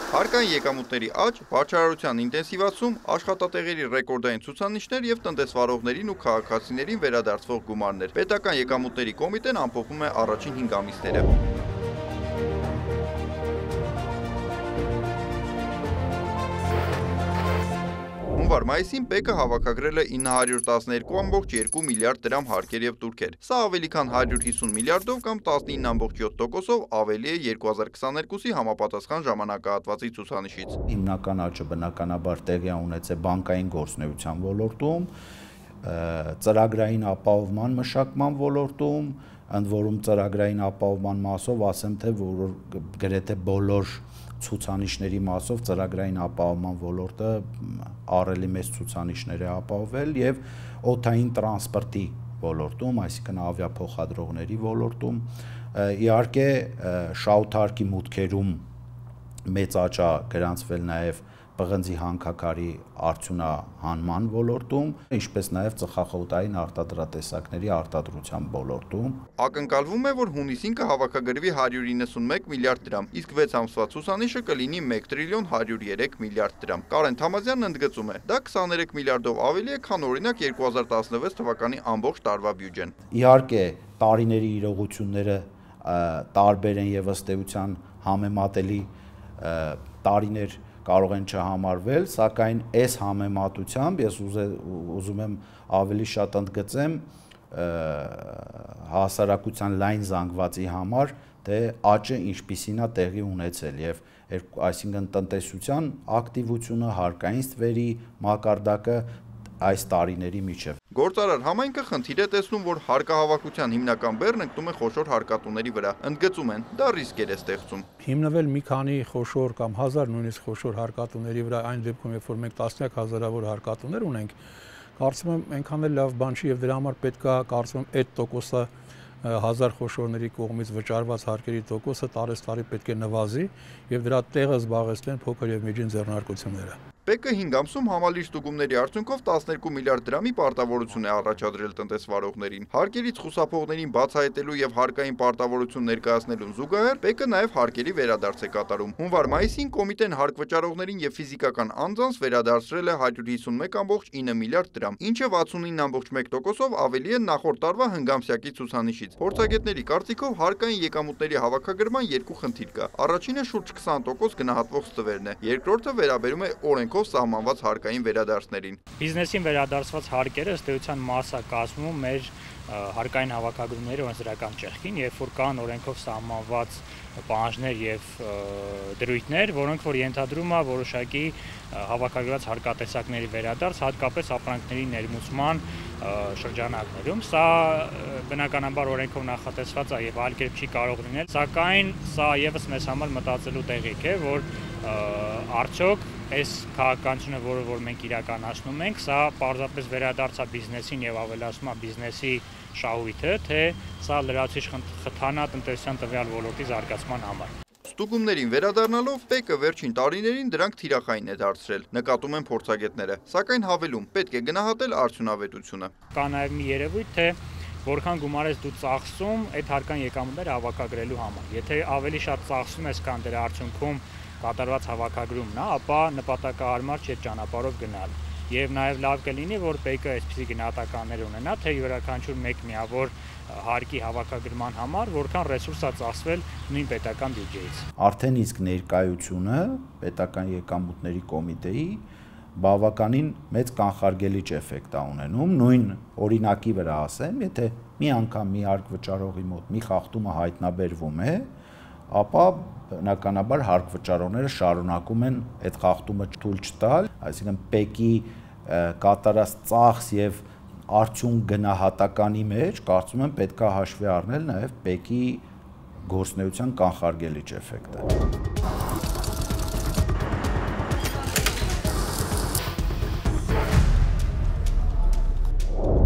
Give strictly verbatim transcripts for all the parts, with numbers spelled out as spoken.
Հարկային եկամուտների աճ, վաճառության ինտենսիվացում, աշխատատեղերի ռեկորդային ցուցանիշներ եւ տնտեսվարողներին ու քաղաքացիներին վերադարձվող գումարներ։ Պետական եկամուտների կոմիտեն ամփոփում է առաջին հինգ ամիսները։ Հունվար-մայիսին ՊԵԿ-ը հավաքագրել է ինը հարյուր տասներկու կόμma երկու միլիարդ դրամ հարկեր եւ տուրքեր։ Սա ավելի քան հարյուր հիսուն միլիարդով կամ տասնինը կόμma յոթ տոկոսով ավելի է երկու հազար քսաներկուսի համապատասխան ժամանակահատվածի ցուցանիշից։ Հիմնական աճը բնականաբար տեղի ունեցել բանկային գործունեության ոլորտում, ծրագրային ապահովման մշակման ոլորտում, ընդ որում ծրագրային ապահովման մասով ասեմ թե որ գրեթե բոլոր ցուցանիշների մասով ծրագրային ապահովման ոլորտը առելի մեծ ցուցանիշներ է ապահովել եւ օդային տրանսպորտի ոլորտում, այսինքն ավիափոխադրողների ոլորտում, իհարկե շահութարկի մուտքերում մեծ աճ է գրանցվել նաեւ պղնձի հանքաքարի արդյունահանման ոլորտում, ինչպես նաև ծխախոտային արտադրատեսակների արտադրության ոլորտում։ Ակնկալվում է, որ հունիսին կհավաքագրվի հարյուր իննսունմեկ միլիարդ դրամ, իսկ վեց ամսվա ցուցանիշը կլինի մեկ տրիլիոն հարյուր երեք միլիարդ դրամ։ Կարեն Թամազյանն ընդգծում է, դա քսաներեք միլիարդով ավելի է, քան օրինակ երկու հազար տասնվեց թվականի ամբողջ տարվա բյուջեն։ Իհարկե, տարիների իրողությունները տարբեր են եւ ըստ էության համեմատելի տարիներ կարող են չհամարվել, սակայն այս համեմատությամբ ես ուզում եմ ավելի շատ ընդգծեմ հասարակության լայն զանգվածի համար, թե աճը ինչպիսին է տեղի ունեցել եւ այսինքն տնտեսության ակտիվությունը, հարկային ստվերի մակարդակը այս տարիների միջև։ Գործարար համայնքը խնդիր է տեսնում, որ հարկահավաքության հիմնական բեռն ընկնում է խոշոր հարկատուների վրա։ Ընդգծում են, դա ռիսկեր է ստեղծում։ Հիմնվել մի քանի խոշոր կամ հազար նույնիսկ խոշոր հարկատուների վրա, այն դեպքում, երբ որ մենք տասնյակ հազարավոր հարկատուներ ունենք, կարծում եմ այնքան էլ լավ բան չի եւ դրա համար պետք է կարծում եմ այդ տոկոսը հազար խոշորների կողմից վճարված հարկերի տոկոսը տարեստարի պետք է նվազի եւ դրա տեղը զբաղեցնեն փոքր եւ միջին ձեռնարկությունները։ ՊԵԿ-ը հինգ ամսում համալիր ստուգումների արդյունքով տասներկու միլիարդ դրամի պարտավորություն է առաջադրել տնտեսվարողներին։ Հարկերից խուսափողներին բացահայտելու եւ հարկային պարտավորություն ներկայացնելուն զուգահեռ ՊԵԿ-ը նաեւ հարկերի վերադարձ է կատարում։ Հունվար-մայիսին կոմիտեն հարկ վճարողներին եւ ֆիզիկական անձանց վերադարձրել է հարյուր հիսունմեկ կόμma ինը միլիարդ դրամ, ինչը վաթսունինը կόμma մեկ տոկոսով ավելի է նախորդ տարվա հնգամսյակի ցուցանիշից։ Փորձագետների կարծիքով հարկային եկամուտների հավաքագրման երկու խնդիր կա։ Առաջինը շուրջ քսան տոկոս գնահատվող ստվերն է, երկրորդը վերաբերում է օրենքով սահմանված հարկային վերադարձներին։ Բիզնեսին վերադարձված հարկերը ըստ էության մասը կազմում մեր հարկային հավաքագրումների օրենսդրական ճեղքին, երբ որ կան օրենքով սահմանված պահանջներ եւ դրույթներ, որոնք որ ենթադրում է որոշակի հավաքագրված հարկատեսակների վերադարձ, հատկապես ապրանքների ներմուծման շրջանակներում։ Սա բնականաբար օրենքով նախատեսված է եւ այլ կերպ չի կարող լինել, սակայն սա եւս մեզ համար մտածելու տեղիք է, որ արդյոք այս քաղաքականությունը, որը որ մենք իրականացնում ենք, սա պարզապես վերադարձ է բիզնեսին եւ ավելացում է բիզնեսի շահույթը, թե սա լրացուցիչ խթան է տնտեսության տվյալ ոլորտի զարգացման համար։ Ստուգումներին վերադառնալով ՊԵԿ-ը վերջին տարիներին դրանք թիրախային է դարձրել, նկատում են փորձագետները, սակայն հավելում պետք է գնահատել արդյունավետությունը։ Կա նաեւ մի երևույթ, թե որքան գումար ես դու ծախսում այդ հարկային եկամուտները հավաքագրելու համար։ Եթե ավելի շատ ծախսում ես, քան դրա արդյունքում կատարված հավաքագրումն է, ապա նպատակահարմար չէ ճանապարհով գնալ։ Եվ նաև լավ կլինի, որ ՊԵԿ-ը այսպիսի գնահատականներ ունենա, թե յուրաքանչյուր մեկ միավոր հարկի հավաքագրման համար որքան ռեսուրս է ծախսվել նույն պետական բյուջեից։ Արդեն իսկ ներկայությունը պետական եկամուտների կոմիտեի բավականին մեծ կանխարգելիչ էֆեկտ է ունենում, նույն օրինակի վրա ասեմ, եթե մի անգամ մի հարկ վճարողի մոտ մի խախտումը հայտնաբերվում է, ապա բնականաբար հարկ վճարողները շարունակում են այդ խախտումը թույլ չտալ, այսինքն ՊԵԿ-ի կատարած ծախս եւ արդյունք գնահատականի մեջ կարծում եմ պետք է հաշվի առնել նաեւ ՊԵԿ-ի գործունեության կանխարգելիչ էֆեկտը։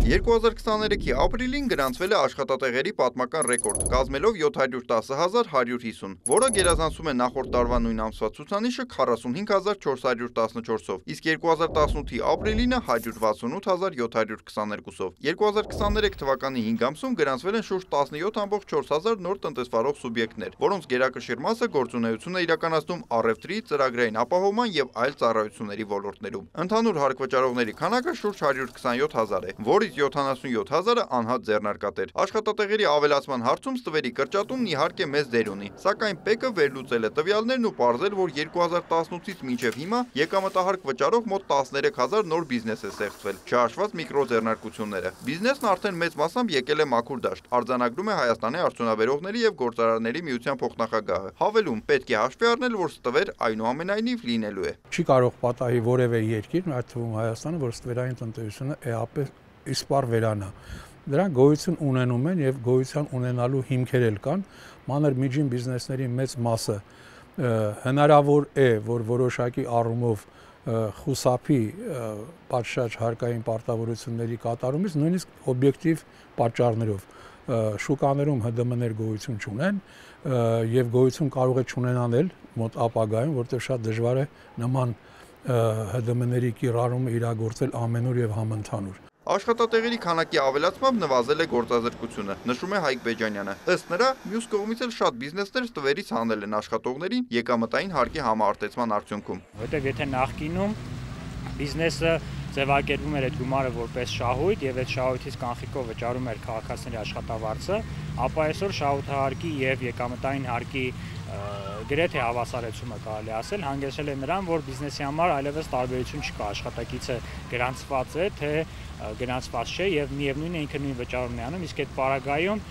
երկու հազար քսաներեքի ապրիլին գրանցվել է աշխատատեղերի պատմական ռեկորդ, կազմելով յոթ հարյուր տասը հազար հարյուր հիսուն, որը գերազանցում է նախորդ տարվա նույն ամսվա ցուցանիշը քառասունհինգ հազար չորս հարյուր տասնչորսով, իսկ երկու հազար տասնութի ապրիլինը հարյուր վաթսունութ հազար յոթ հարյուր քսաներկուսով։ երկու հազար քսաներեք թվականի հինգ ամսում գրանցվել են շուրջ տասնյոթ ամբողջ չորս հազար նոր տնտեսվարող սուբյեկտներ, որոնց գերակշիռ մասը գործունեություն է իրականացնում առևտրի, ծրագրային ապահովման եւ այլ ծառայությունների ոլորտներում։ Ընդհանուր հարկ-վճարողների քանակը շուրջ հարյուր քսանյոթ հազար է, որից յոթանասունյոթ հազարը անհատ ձեռնարկատեր։ Աշխատատեղերի ավելացման հարցում ստվերի կրճատումն իհարկե մեծ դեր ունի, սակայն ՊԵԿ-ը վերլուծել է տվյալներն ու պարզել, որ երկու հազար տասնութից մինչև հիմա եկամտահարկ վճարող մոտ տասներեք հազար նոր բիզնես է ստեղծվել, չհաշված միկրոձեռնարկությունները։ Բիզնեսն արդեն մեծ մասամբ եկել է մաքուր դաշտ, արձանագրում է Հայաստանի արդյունաբերողների եւ գործարարների միության փոխնախագահը։ Հավելում, պետք է հաշվի առնել, որ ստվեր այնուամենայնիվ լինելու է։ Չի կարող պատահի որևէ երկիր, այդ թվում Հայաստանը, որ ստվերային տնտեսությունը էապես իսպառ վերանա։ Դրանք գոյություն ունենում են եւ գոյության ունենալու հիմքեր էլ կան, մանր միջին բիզնեսների մեծ մասը հնարավոր է, որ որոշակի առումով խուսափի պատշաճ հարկային պարտավորությունների կատարումից, նույնիսկ օբյեկտիվ պատճառներով։ Շուկաներում Հ D M-ներ գոյություն չունեն եւ գոյություն կարող է չունենալ մոտ ապագայում, որտեղ շատ դժվար է նման Հ D M-ների կիրառումը իրագործել ամենուր եւ համընդհանուր։ Աշխատատեղերի քանակի ավելացմամբ նվազել է գործազրկությունը, նշում է Հայկ Բեջանյանը։ Ըստ նրա, մյուս կողմից էլ շատ բիզնեսներ ստվերից հանել են աշխատողներին եկամտային հարկի համարտեցման արդյունքում։ Որտեղ եթե նախկինում բիզնեսը ձևակերպում էր այդ գումարը որպես շահույթ եւ այդ շահույթից կանխիկով վճարում էր քաղաքացիների աշխատավարձը, ապա այսօր շահութահարկի եւ եկամտային հարկի գրեթե հավասարեցումը կարելի ասել հանգեցրել է նրան, որ բիզնեսի համար այլևս տարբերություն չկա, աշխատակիցը գրանցված է, թե գրանցված չէ եւ միևնույնն է ինքը նույն վճարումն է անում, իսկ այդ պարագայում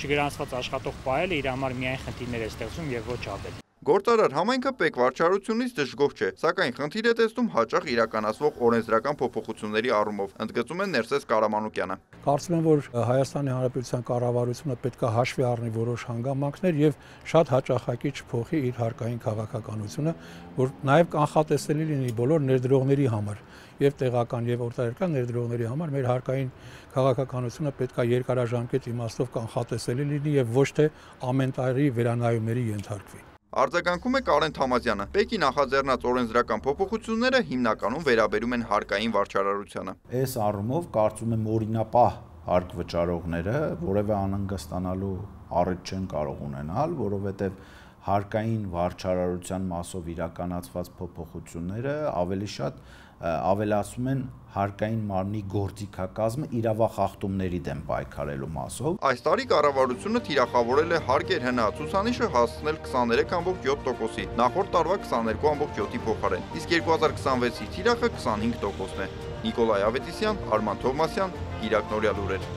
չգրանցված աշխատող պահելը իր համար միայն խնդիրներ է ստեղծում եւ ոչ ավելի։ Գործարար համայնքը ՊԵԿ վարչարությունից դժգոհ չէ, սակայն խնդիր է տեսնում հաճախ իրականացվող օրենսդրական փոփոխությունների առումով, ընդգծում է Ներսես Կարամանուկյանը։ Կարծում եմ, որ Հայաստանի Հանրապետության կառավարությունը պետք է հաշվի առնի որոշ հանգամանքներ եւ շատ հաճախակի չփոխի իր հարկային քաղաքականությունը, որ նաեւ կանխատեսելի լինի բոլոր ներդրողների համար եւ տեղական եւ արտահերկրյալ ներդրողների համար մեր հարկային քաղաքականությունը պետք է երկարաժամկետ իմաստով կանխատեսելի լինի եւ ոչ թե ամեն տարի վերանայումների ենթարկվի։ Արձագանքում է Կարեն Թամազյանը։ ՊԵԿ-ի նախաձեռնած օրենսդրական փոփոխությունները հիմնականում վերաբերում են հարկային վարչարարությանը։ Այս առումով կարծում եմ օրինապահ հարկ վճարողները որևէ անհանգստանալու առիթ չեն կարող ունենալ, որովհետև հարկային վարչարարության մասով իրականացված փոփոխությունները ավելի շատ ավելացում են հարկային մարմնի գործիքակազմը իրավախախտումների դեմ պայքարելու մասով։ Այս տարի կառավարությունը թիրախավորել է հարկեր հնա ցուցանիշը հասցնել քսաներեք ամբողջ յոթ տոկոսի, նախորդ տարվա քսաներկու ամբողջ յոթի փոխարեն, իսկ երկու հազար քսանվեցի թիրախը քսանհինգ տոկոսն է։ Նիկոլայ Ավետիսյան, Արման Թովմասյան, Իրաք Նորյալ լուրեր։